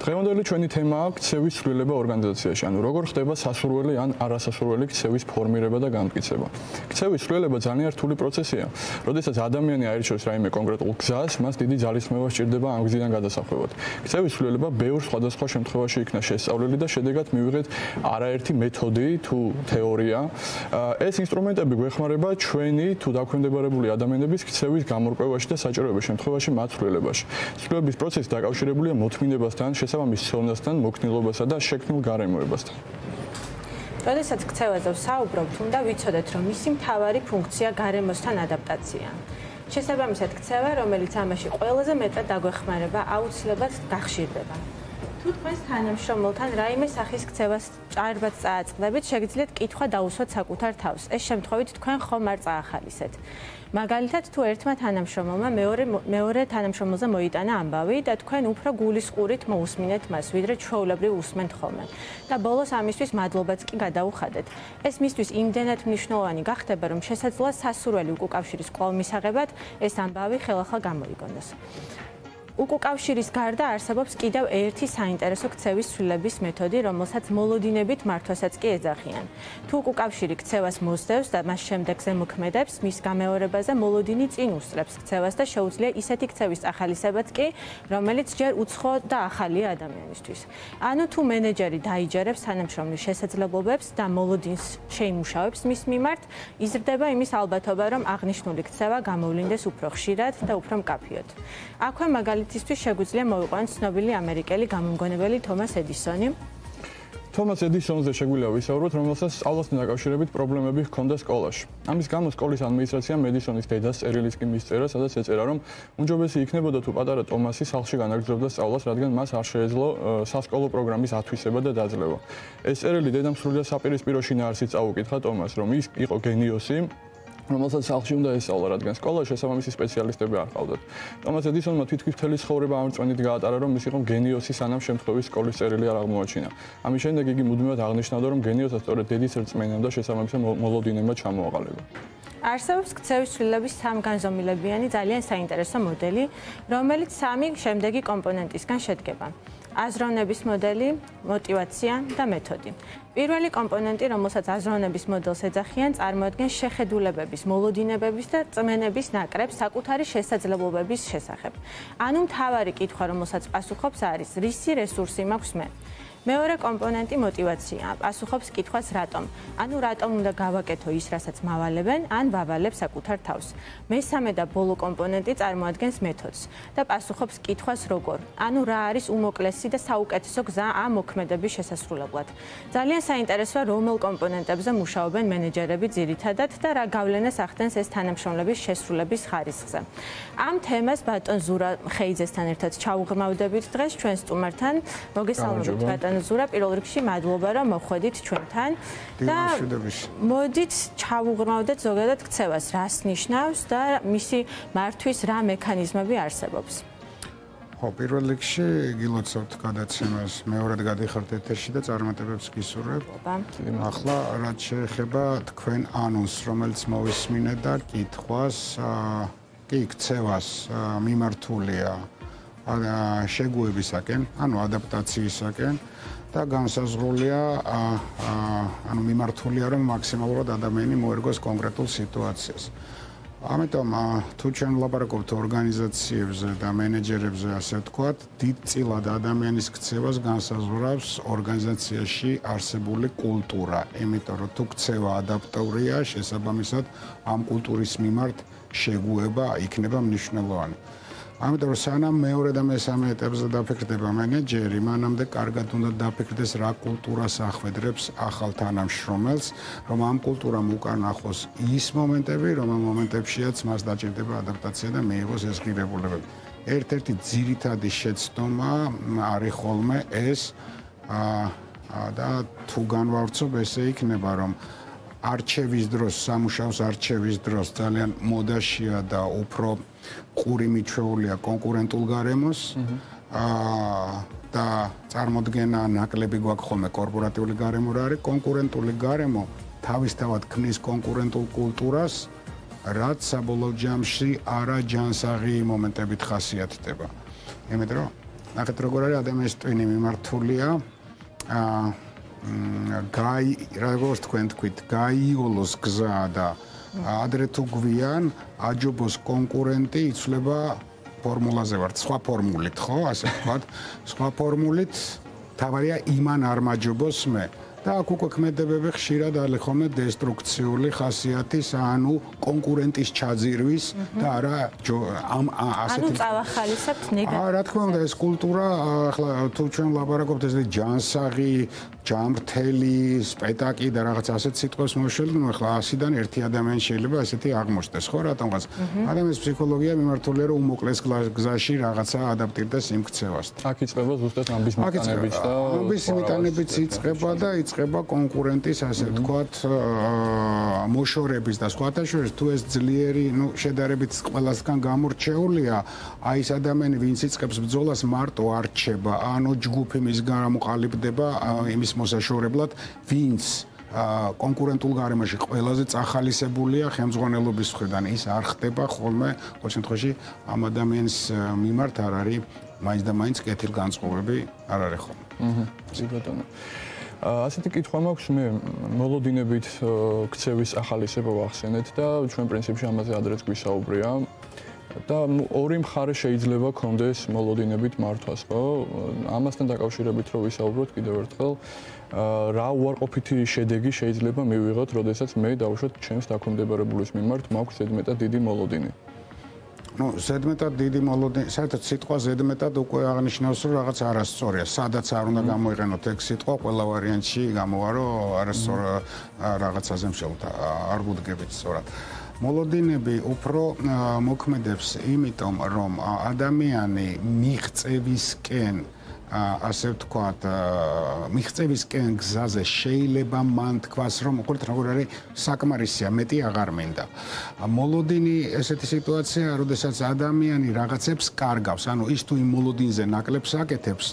დღევანდელი ჩვენი თემაა ქცევის ცვლილება ორგანიზაციაში, ანუ როგორ ხდება სასურველი ან არასასურველი ქცევის ფორმირება და განმტკიცება. ქცევის ცვლილება ძალიან რთული პროცესია. როდესაც ადამიანი აირჩევს რაიმე კონკრეტულ გზას, მას დიდი ძალისხმევა სჭირდება ამ გზიდან გადასახვევად. ქცევის ცვლილება ბევრ სხვადასხვა შემთხვევაში იქნა შესწავლილი და შედეგად მივიღეთ არაერთი მეთოდი თუ თეორია. ეს ინსტრუმენტები გვეხმარება ჩვენი თუ დაქვემდებარებული ადამიანების ქცევის გამორკვევაში და საჭიროების შემთხვევაში მათ ცვლილებაში. ცვლილების პროცესი დაკავშირებულია მოთმინებასთან, შესაბამის ცოდნასთან, მოქნილობასა და შექმნილ გარემოებასთან. როდესაც ქცევაზე ვსაუბრობთ, უნდა ვიცოდეთ, რომ მისი მთავარი ფუნქცია გარემოსთან ადაპტაცია. შესაბამისად, ქცევა, რომელიც ამაში ყველაზე მეტად დაგვეხმარება, აუცილებლად გახშირდება. თუ თქვენს თანამშრომელთან რაიმე სახის ქცევას ჭარბად წააწყდებით, შეგიძლიათ კითხვა დაუსვათ საკუთარ თავს. ეს შემთხვევით თქვენ ხომ არ წაახალისეთ. მაგალითად, თუ ერთმა თანამშრომელმა მეორე თანამშრომელზე მოიტანა ამბავი და თქვენ უფრო გულისყურით მოусმინეთ მას, ვიდრე ჩვეულებრივ უსმენთ ხოლმე. და ბოლოს ამისთვის მადლობაც კი გადაუხადეთ. ეს მისთვის იმდენად მნიშვნელოვანი გახდება, რომ შესაძლოა სასურველი უკუკავშირის კვლავ მისაღებად ეს ამბავი ხელახლა გამოიგონოს. უკუკავშირის გარდა არსებობს კიდევ ერთი საინტერესო ქცევის ცვლილების მეთოდი, რომელსაც მოლოდინებით მართვასაც კი ეძახიან. თუ უკუკავშირი ქცევას მოსდევს და მას შემდეგზე მოქმედებს, მის გამეორებაზე მოლოდინი წინ უსწრებს ქცევას და შეუძლია ისეთი ქცევის ახალისებაც კი, რომელიც ჯერ უცხო და ახალია ადამიანისთვის. ანუ თუ მენეჯერი დაიჯერებს თანამშრომლის შესაძლებლობებს და მოლოდინს შეიმუშავებს მის მიმართ, იზრდება იმის ალბათობა, რომ აღნიშნული ქცევა გამოვლინდეს უფრო ხშირად და უფრო მკაფიოდ. აქვე მაგალითისთვის შეგვიძლია მოვიყვანოთ ცნობილი ამერიკელი გამომგონებელი თომას ედისონი. თომას ედისონზე შეგვიძლია ვისაუბროთ, რომელსაც სწავლასთან დაკავშირებით პრობლემები ჰქონდა სკოლაში. ამის გამო სკოლის ადმინისტრაციამ ედისონის დედას წერილის კი მისწერა, სადაც ეწერა, რომ უმჯობესი იქნებოდა თუ პატარა ტომასი სახლში განაგრძობდა სწავლას, რადგან მას არ შეეძლო სასკოლო პროგრამის ათვისება და დაძლევა. ეს წერილი დედამ სრულიად საპირისპირო შინაარსით წაუკითხა ტომას, რომ ის იყო გენიოსი, რომელსაც სახლში უნდა ესწავლა, რადგან სკოლაში შესაბამისი სპეციალისტები არ ყავდათ. ტომას ედისონმა თვითონ მთელი ცხოვრება ამ რწმენით გაატარა, რომ ის იყო გენიოსი, სანამ შემთხვევის სკოლის წერილი არ აღმოაჩინა. ამის შემდეგ იგი მუდმივად აღნიშნავდა, რომ გენიოსად სწორედ დედის რწმენამ და შესაბამისად მოლოდინებმა ჩამოაყალიბა. არსებობს ქცევის ცვლილებების სამგანზომილებიანი ძალიან საინტერესო მოდელი, რომელიც სამი შემდეგი კომპონენტისგან შედგება. აზროვნების მოდელი, мотивация და მეთოდი. პირველი კომპონენტი, რომელსაც აზროვნების მოდელს ეძახიან, წარმოადგენს შეხედულებების, მოლოდინებების და წმენების ნაკრებს საკუთარი შესაძლებლობების შესახებ. ანუ მთავარი კითხვა, რომელსაც პასუხობს, არის რისი რესურსი მაქვს მე. მეორე კომპონენტი мотивация. პასუხობს კითხვას რატომ. ანუ რატომ უნდა გავაკეთო ის, რასაც მავალებენ, ან ვავალებ საკუთარ თავს. მესამე და ბოლო კომპონენტი წარმოადგენს მეთოდს და პასუხობს კითხვას როგორ. ანუ რა არის უმოკლესი და საუკეთესო გზა ამ მოქმედების შესასრულებლად. ძალიან საინტერესოა, რომელ კომპონენტებზე მუშაობენ მენეჯერები ძირითადად და რა გავლენას ახდენს ეს თანამშრომლების შესრულების ხარისხზე. ამ თემას ბატონ ზურა ხეიძესთან ერთად ჩაუღრმავდებით დღეს ჩვენ სტუმართან. მოგესალმებით ბატონ ზურა, პირველ რიგში მადლობა, რომ მოხვედით ჩვენთან და მოდით ჩავუღრმავდეთ ზოგადად ქცევას, რას ნიშნავს და მისი მართვის რა მექანიზმები არსებობს. ხო, პირველ რიგში გილოცავთ გადაცემას, მეორედ გადიხართ ეთერში და წარმატებებს გისურვებ. ახლა რაც შეეხება თქვენ ანონსს, რომელიც მოვისმინეთ და კითხვას, კი ქცევას მიმართულია შეგუებისაკენ, ანუ ადაპტაციისაკენ და განსაზღვრულია, ანუ მიმართულია, რომ მაქსიმალურად ადამიანი მოერგოს კონკრეტულ სიტუაციას. ამიტომ თუ ჩვენ ვლაპარაკობთ ორგანიზაციებზე და მენეჯერებზე, ასე ვთქვათ, დიდწილად ადამიანის ქცევას განსაზღვრავს ორგანიზაციაში არსებული კულტურა. იმიტომ რომ თუ ქცევა ადაპტურია, შესაბამისად ამ კულტურის მიმართ შეგუება იქნება მნიშვნელოვანი. ამიტომ სანამ მეორე და მესამე ეტაპზე დაფიქრდება მენეჯერი, მანამდე კარგად უნდა დაფიქრდეს რა კულტურას ახვედრებს ახალ თანამშრომელს, რომ ამ კულტურამ უკან ახოს ის მომენტები, რომ ამ მომენტებშიაც მას დაჭირდება ადაპტაცია და მიიღოს ეს ღირებულებები. ერთ-ერთი ძირითადი შეცდომა არის ხოლმე ეს და თუ განვავრცობ, ესე იქნება, რომ არჩევის დროს, სამუშაოს არჩევის დროს ძალიან მოდაშია და უფრო ყური მიჩვეულია კონკურენტულ გარემოს და წარმოდგენა ნაკლები გვაქვს ხოლმე კორპორატიული გარემო რა არის. კონკურენტული გარემო თავისთავად ქმნის კონკურენტულ კულტურას, რაც საბოლოო ჯამში არაჯანსაღი მომენტებით ხასიათდება. იმიტომ რომ ნახეთ როგორ არის ადამიანის ტვინი მიმართულია როგორც თქვენ თქვით, გაიოლოს გზა და ადრე თუ გვიან აჯობოს კონკურენტი იცვლება ფორმულაზე ვართ, სხვა ფორმულით, ხო, ასე ვთქვათ, სხვა ფორმულით თავარია იმან არ მაჯობოს მე. და აქ უკვე ქმედებები ხშირად არის ხოლმე დესტრუქციული ხასიათის, ანუ კონკურენტის ჩაძირვის და არა ანუ წავახალისებთ ნეგატივს. რა თქმა უნდა, ეს კულტურა, ახლა თუ ჩვენ ვლაპარაკობთ ესე ჯანსაღი, ჯამრთელი, სპეტაკი და რაღაც ასეთ სიტყვებს მოვშველდნო, ახლა 100-დან 1 ადამიანი შეიძლება ესეთი აღმოჩნდეს, ხო, რატომღაც. ადამიანის ფსიქოლოგია მიმართულია რომ უმოკლეს გზაში რაღაცა ადაპტირდეს იმ ქცევასთან. აქ იწყება ზუსტად ამბის მიტანებიც და ამბის მიტანებიც იწყება და იწყება კონკურენტის, ასე ვთქვათ, მოშორების და სხვათა შორის თუ ეს ძლიერი, შედარებით ყველასგან გამორჩეულია, აი ეს ადამიანი, ვინც იწყებს ბრძოლას, მარტო არ რჩება, ანუ ჯგუფი მის გამყალიბდება იმის მოსაშორებლად, ვინც კონკურენტულ გარემოში ყველაზე წახალისებულია ხელმძღვანელობის მხრიდან, ის არ ხდება ხოლმე, ყოველ შემთხვევაში ამ ადამიანის მიმართ არ არის მაინც და მაინც კეთილგანწყობები არ არის ხოლმე. ბატონო. ასეთი კითხვა მაქვს მე მოლოდინებით ქცევის ახალისება ვახსენეთ და ჩვენ პრინციპში ამაზე ადრეც გვისაუბრია და ორი მხარე შეიძლება კონდეს მოლოდინებით მართვას, ხო? ამასთან დაკავშირებით რო ვისაუბროთ კიდევ ერთხელ, რა უარყოფითი შედეგი შეიძლება მივიღოთ, როდესაც მე დავუშვათ ჩემს დაქვემდებარებულის მიმართ მაქვს ზედმეტად დიდი მოლოდინი. ზედმეტად დიდი მოლოდინი, საერთოდ სიტყვა ზედმეტად უკვე აღნიშნავს, რომ რაღაც არასწორია. სადაც არ უნდა გამოიყენოთ ეგ სიტყვა, ყველა ვარიანტში გამოვა, რომ არასწორ რაღაცაზე მსჯელოთ, არ გუდგებით სწორად. მოლოდინები უფრო მოქმედებს იმიტომ, რომ ადამიანი მიღწევისკენ ასე ვთქვათ, მიღწევისკენ გზაზე შეიძლება მან თქვას, რომ უყურეთ როგორ არის საკმარისია, მეტი აღარ მინდა. მოლოდინი ესეთი სიტუაცია, როდესაც ადამიანი რაღაცებს კარგავს, ანუ ის თუ იმ მოლოდინზე ნაკლებს აკეთებს,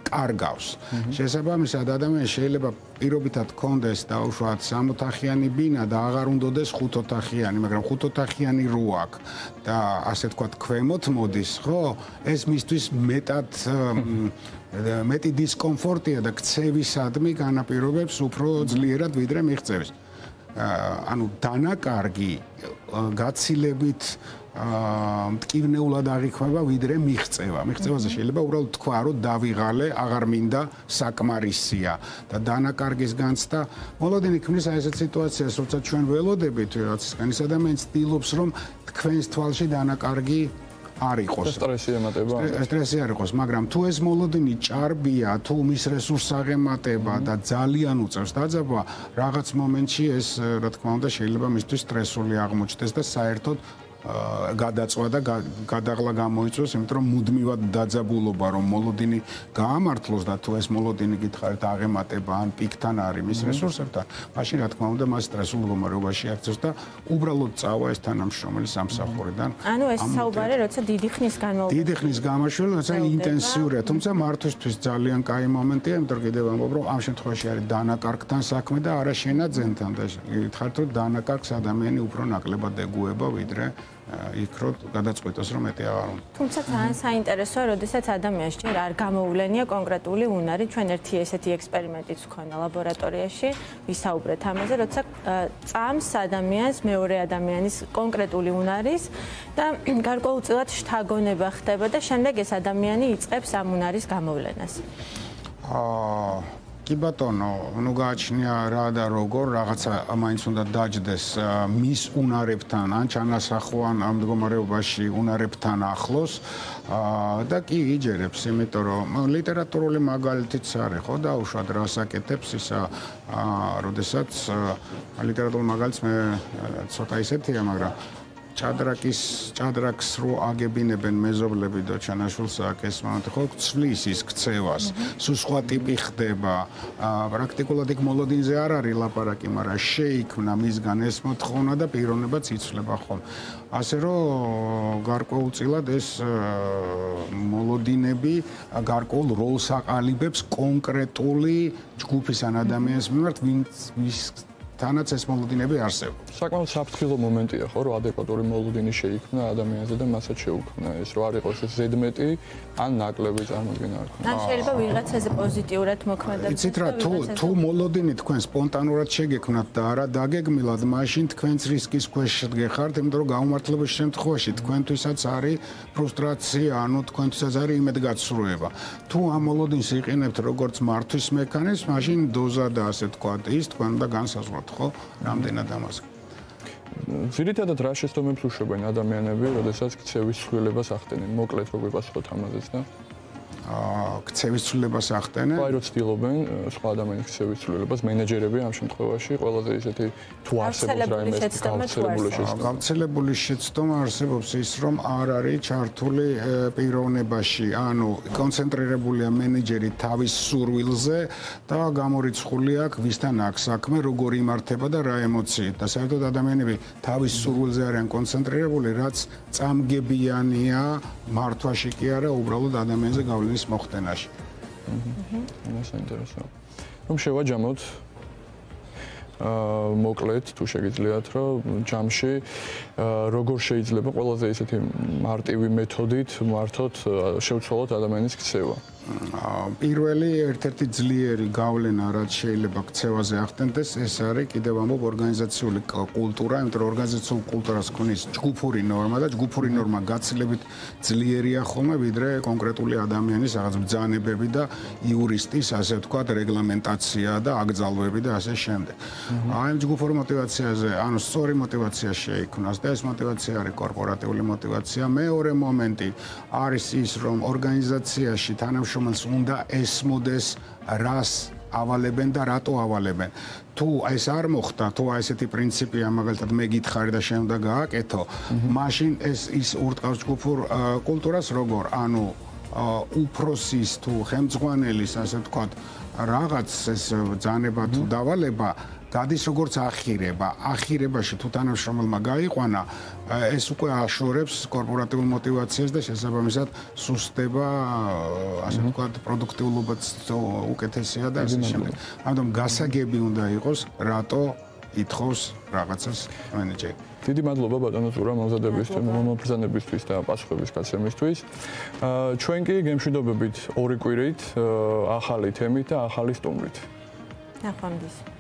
კარგავს. შესაბამისად, ადამიანს შეიძლება პირობითად კონდეს დაუშვათ 60 ოთახიანი ბინა და აღარ უნდოდეს 5 ოთახიანი, მაგრამ 5 ოთახიანი რო აქვს და ასე ვთქვათ, ქვემოთ მოდის, ხო? ეს მისთვის მეტი დისკომფორტია და ქცევისადმი განაპირობებს უფრო ძლიერად ვიდრე მიღწევის. ანუ დანაკარგი გაცილებით მტკივნეულად აღიქმება ვიდრე მიღწევა. მიღწევაზე შეიძლება უბრალოდ თქვა, რომ დავიღალე, აღარ მინდა, საკმარისია და დანაკარგის განცდა მოლოდინი ქმნის აი ესეთ სიტუაციას, როცა ჩვენ ველოდებით ვიღაცისგან, ის ადამიანი ცდილობს, რომ თქვენს თვალში დანაკარგი არ იყოს. სტრესი ემატება. სტრესი არ იყოს, მაგრამ თუ ეს მოლოდინი ჭარბია, თუ მის რესურსს აღემატება და ძალიან უწევს დაძაბვა, რაღაც მომენტში ეს, რა თქმა უნდა, შეიძლება მისთვის სტრესული აღმოჩნდეს და საერთოდ გადაწვა და გადაღლა გამოიწვევს, იმიტომ რომ მუდმივად დაძაბულობა, რომ მოლოდინი გაამართლოს და თუ ეს მოლოდინი გითხარით აღემატება ან პიკთან არის მის რესურსებთან, მაშინ რა თქმა უნდა მას სტრესულ მდგომარეობაში აქცევს და უბრალოდ წავა ეს თანამშრომელი სამსახურიდან. ანუ ეს საუბარი, როცა დიდი ხნის განმავლობაში. დიდი ხნის გამაშველება, როცა ინტენსიურია, თუმცა მართვისთვის ძალიან კაი მომენტია, იმიტომ რომ კიდევ ამბობ, რომ ამ შემთხვევაში არის დანაკარგთან საქმე და არა შენაძენთან და გითხარით, რომ დანაკარგს ადამიანი უფრო ნაკლებად ეგუება ვიდრე იქ რო გადაწყვეტოს რომ მეტი აღარ უნდა. თუმცა ძალიან საინტერესოა, როდესაც ადამიანს ჯერ არ გამოუვლენია კონკრეტული უნარი. ჩვენ ერთი ესეთი ექსპერიმენტიც ვქონა ლაბორატორიაში, ვისაუბრეთ ამაზე, როცა წამს ადამიანს მეორე ადამიანის კონკრეტული უნარის და გარკვეულწილად შთაგონება ხდება და შემდეგ ეს ადამიანი იწყებს ამ უნარის გამოვლენას. კი ბატონო, ნუ გააჩნია რა და როგორ, რაღაცა მაინც უნდა დაჯდეს მის უნარებთან, ან ჩანასახვან ამ მდგომარეობაში უნარებთან ახლოს და კი იჯერებს, იმიტომ რომ ლიტერატურული მაგალითიც არის, ხო, დაუშვათ რას აკეთებს ისა, როდესაც ლიტერატურული მაგალითს მე ცოტა ისეთია, მაგრამ ჭადრაკს რო აგებინებენ მეზობლები და ჩანაშულს აქ ეს მომენტი ხო ცვლის ის ქცევას, სულ სხვა ტიპი ხდება. პრაქტიკულად იქ მოლოდინზე არ არის ლაპარაკი, მაგრამ შეიქმნა მისგან ეს მოთხოვნა და პიროვნებაც იცვლება ხოლმე. ასე რომ გარკვეულწილად ეს მოლოდინები გარკვეულ როლს აყალიბებს კონკრეტული ჯგუფის ან ადამიანის მიმართ, ვინც თანაც ეს მოლოდინები არსებობს. საკმაოდ საფრთხილო მომენტია ხო, რომ ადეკვატური მოლოდინი შეიქმნა ადამიანზე და მასაც შეუქმნა ეს, რომ არ იყოს ეს ზედმეტი ან ნაკლები წარმოქმნა არ ქონდა. ან შეიძლება ვიღაცაზე პოზიტიურად მოქმედებს. იცით რა, თუ მოლოდინი თქვენ სპონტანურად შეგექმნათ და არა დაგეგმილად, მაშინ თქვენც რისკის ქვეშ გეხართ, იმიტომ რომ გაუმართლების შემთხვევაში თქვენთვისაც არის ფრუსტრაცია, ანუ თქვენთვისაც არის იმედგაცრუება. თუ ამ მოლოდინს იყენებთ როგორც მართვის მექანიზმს, მაშინ დოზა და ასე თქვა ის თქვენ უნდა განსაზღვროთ, ხო? რამდენად ამას. ძირითადად რა შეცდომებს უშვებენ ადამიანები, როდესაც ქცევის ცვლილებას ახდენენ? მოკლედ როგორ გასახოთ ამაზეც და ქცევის ცვლილებას ახდენენ. აი რომ ცდილობენ სხვა ადამიანის ქცევის ცვლილებას, მენეჯერები ამ შემთხვევაში ყველაზე ისეთი თუ არსებობს რაიმე გავრცელებული შეცდომა არსებობს ის, რომ არ არის ჩართული პიროვნებაში, ანუ კონცენტრირებულია მენეჯერი თავის სურვილზე და გამორიცხული აქვს ვისთან აქვს საქმე, როგორ იმართება და რა ემოციით. და საერთოდ ადამიანები თავის სურვილზე არიან კონცენტრირებული, რაც წამგებიანია მართვაში კი არა, უბრალოდ ადამიანზე გავლენის მოხდენაში. ეს საინტერესოა. რომ შევაჯამოთ მოკლედ თუ შეგიძლიათ, რომ ჯამში როგორ შეიძლება ყველაზე ისეთი მარტივი მეთოდით მართოთ შევცვალოთ ადამიანის ქცევა. პირველი ერთ-ერთი ძლიერი გავლენა რაც შეიძლება ქცევაზე ახდენდეს, ეს არის კიდევ ამბობ ორგანიზაციული კულტურა, იმიტომ რომ ორგანიზაციულ კულტურას ქმნის ჯგუფური ნორმა და ჯგუფური ნორმა გაცილებით ძლიერია ხოლმე ვიდრე კონკრეტული ადამიანის რაღაც ბრძანებები და იურისტის, ასე ვთქვათ, რეგლამენტაცია და აკრძალვები და ასე შემდეგ. აი ამ ჯგუფურ мотиваციაზე, ანუ სწორი мотиваცია შეიქმნას და ეს мотиваცია არის კორპორატიული мотиваცია. მეორე მომენტი არის ის, რომ ორგანიზაციაში თანამშრომელს უნდა ესმოდეს რას ავალებენ და რატო ავალებენ. თუ ეს არ მოხდა, თუ ესეთი პრინციპია, მაგალითად მე გითხარი და შენ უნდა გააკეთო, მაშინ ის ურტყავს ჯგუფურ კულტურას როგორ? ანუ უფროსის თუ ხელმძღვანელის, ასე ვთქვათ, რაღაც ეს ბრძანება თუ დავალება გადის როგორც ახირება. ახირებაში თუ თანამშრომელმა გაიყვანა, ეს უკვე აშორებს კორპორატიულ мотиваციას და შესაბამისად სუსტდება, ასე ვთქვათ, პროდუქტიულობაც უკეთესია და ასე შემდეგ. ამიტომ გასაგები უნდა იყოს, რატო ითხოვს რაღაცას მენეჯერი. დიდი მადლობა ბატონო ზურა მომბრძანებისთვის და პასუხების გაცემისთვის. ჩვენ კი გემშვიდობებით ორი კვირით, ახალი თემით და ახალი სტუმრით. ნახვამდის.